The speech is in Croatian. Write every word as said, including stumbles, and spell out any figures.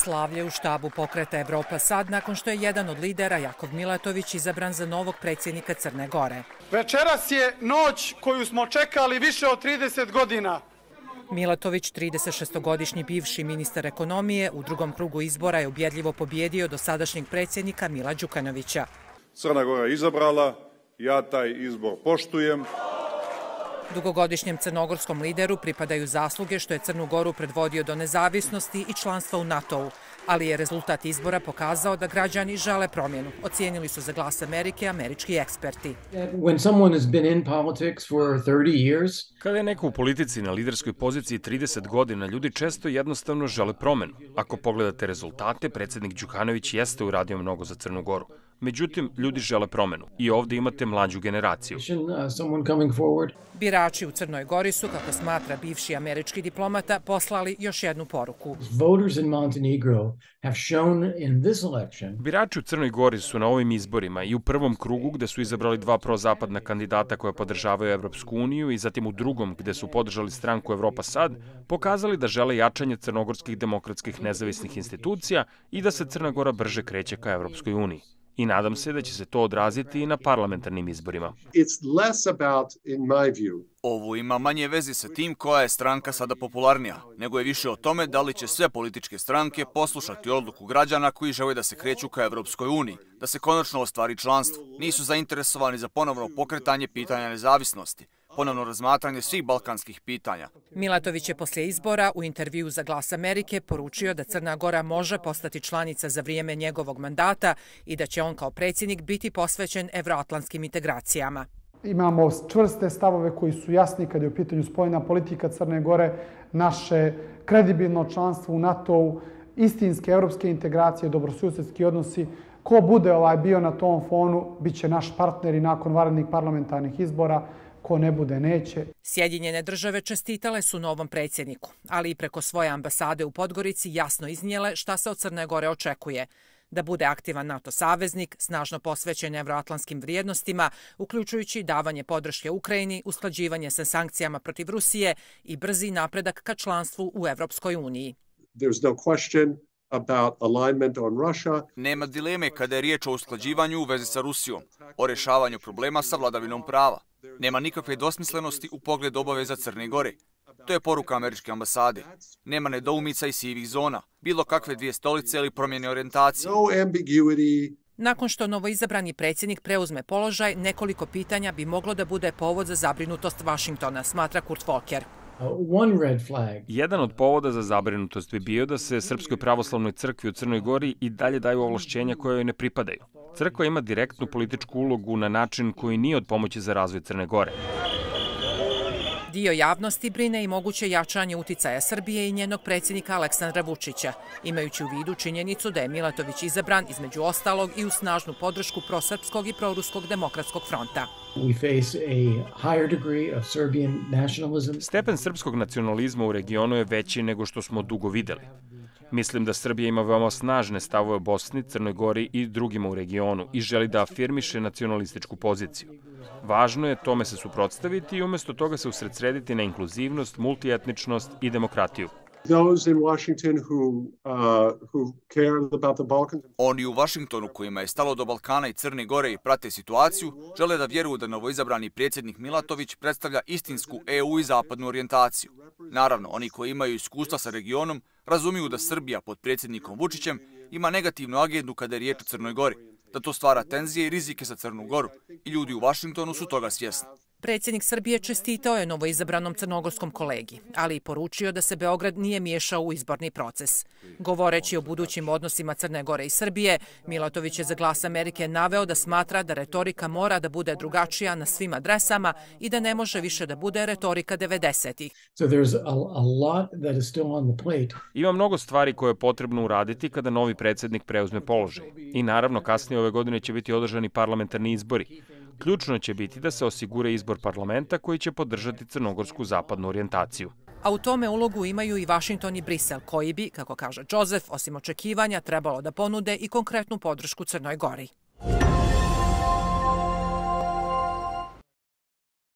Slavlje u štabu pokreta Evropa sad nakon što je jedan od lidera, Jakov Milatović, izabran za novog predsjednika Crne Gore. Večeras je noć koju smo čekali više od trideset godina. Milatović, tridesetšestogodišnji bivši ministar ekonomije, u drugom krugu izbora je ubjedljivo pobjedio dosadašnjeg predsjednika Mila Đukanovića. Crna Gora je izabrala, ja taj izbor poštujem. Dugogodišnjem crnogorskom lideru pripadaju zasluge što je Crnu Goru predvodio do nezavisnosti i članstva u NATO-u, ali je rezultat izbora pokazao da građani žele promjenu, ocijenili su za Glas Amerike američki eksperti. Kada je neko u politici na liderskoj poziciji trideset godina, ljudi često jednostavno žele promjenu. Ako pogledate rezultate, predsjednik Đukanović jeste uradio mnogo za Crnu Goru. Međutim, ljudi žele promjenu i ovdje imate mlađu generaciju. Birači u Crnoj Gori su, kako smatra bivši američki diplomata, poslali još jednu poruku. Birači u Crnoj Gori su na ovim izborima i u prvom krugu gdje su izabrali dva prozapadna kandidata koja podržavaju Evropsku uniju i zatim u drugom gdje su podržali stranku Evropa sad, pokazali da žele jačanje crnogorskih demokratskih nezavisnih institucija i da se Crna Gora brže kreće ka Evropskoj uniji. I nadam se da će se to odraziti i na parlamentarnim izborima. Ovo ima manje veze sa tim koja je stranka sada popularnija, nego je više o tome da li će sve političke stranke poslušati odluku građana koji žele da se kreću ka Evropskoj uniji, da se konačno ostvari članstvo. Nisu zainteresovani za ponovno pokretanje pitanja nezavisnosti, ponovno razmatranje svih balkanskih pitanja. Milatović je poslije izbora u intervju za Glas Amerike poručio da Crna Gora može postati članica za vrijeme njegovog mandata i da će on kao predsjednik biti posvećen evroatlantskim integracijama. Imamo čvrste stavove koji su jasni kad je u pitanju spoljna politika Crne Gore, naše kredibilno članstvo u NATO-u, istinske evropske integracije, dobrosusjedski odnosi. Ko bude ovaj bio na tom fonu, bit će naš partner i nakon vanrednih parlamentarnih izbora. Ko ne bude, neće. Sjedinjene države čestitale su novom predsjedniku, ali i preko svoje ambasade u Podgorici jasno iznijele šta se od Crne Gore očekuje. Da bude aktivan NATO saveznik, snažno posvećen evroatlantskim vrijednostima, uključujući davanje podrške Ukrajini, usklađivanje sa sankcijama protiv Rusije i brzi napredak ka članstvu u Evropskoj uniji. Nema dileme kada je riječ o usklađivanju u vezi sa Rusijom, o rješavanju problema sa vladavinom prava. Nema nikakve dvosmislenosti u pogledu obaveza Crne Gore. To je poruka američke ambasade. Nema nedoumica i sivih zona, bilo kakve dvije stolice ili promjene orijentacije. Nakon što novoizabrani predsjednik preuzme položaj, nekoliko pitanja bi moglo da bude povod za zabrinutost Vašingtona, smatra Kurt Volker. Jedan od povoda za zabrinutost bi bio da se Srpskoj pravoslavnoj crkvi u Crnoj Gori i dalje daju ovlašćenja koje joj ne pripadaju. Crkva ima direktnu političku ulogu na način koji nije od pomoći za razvoj Crne Gore. Dio javnosti brine i moguće jačanje uticaja Srbije i njenog predsjednika Aleksandra Vučića, imajući u vidu činjenicu da je Milatović izabran između ostalog i u snažnu podršku prosrpskog i proruskog demokratskog fronta. Stepen srpskog nacionalizma u regionu je veći nego što smo dugo videli. Mislim da Srbija ima veoma snažne stavove u Bosni, Crnoj Gori i drugima u regionu i želi da afirmiše nacionalističku poziciju. Važno je tome se suprotstaviti i umjesto toga se usredsrediti na inkluzivnost, multietničnost i demokratiju. Oni u Vašingtonu kojima je stalo do Balkana i Crne Gore i prate situaciju, žele da vjeruju da novoizabrani predsjednik Milatović predstavlja istinsku E U i zapadnu orijentaciju. Naravno, oni koji imaju iskustva sa regionom razumiju da Srbija pod predsjednikom Vučićem ima negativnu agendu kada je riječ o Crnoj Gori, da to stvara tenzije i rizike za Crnu Goru i ljudi u Vašingtonu su toga svjesni. Predsjednik Srbije čestitao je novoizabranom crnogorskom kolegi, ali i poručio da se Beograd nije miješao u izborni proces. Govoreći o budućim odnosima Crne Gore i Srbije, Milatović je za Glas Amerike naveo da smatra da retorika mora da bude drugačija na svim adresama i da ne može više da bude retorika devedesetih. Ima mnogo stvari koje je potrebno uraditi kada novi predsjednik preuzme položaj. I naravno kasnije ove godine će biti održani parlamentarni izbori. Ključno će biti da se osigura izbor parlamenta koji će podržati crnogorsku zapadnu orijentaciju. A u tome ulogu imaju i Vašington i Brisel, koji bi, kako kaže Joseph, osim očekivanja trebalo da ponude i konkretnu podršku Crnoj Gori.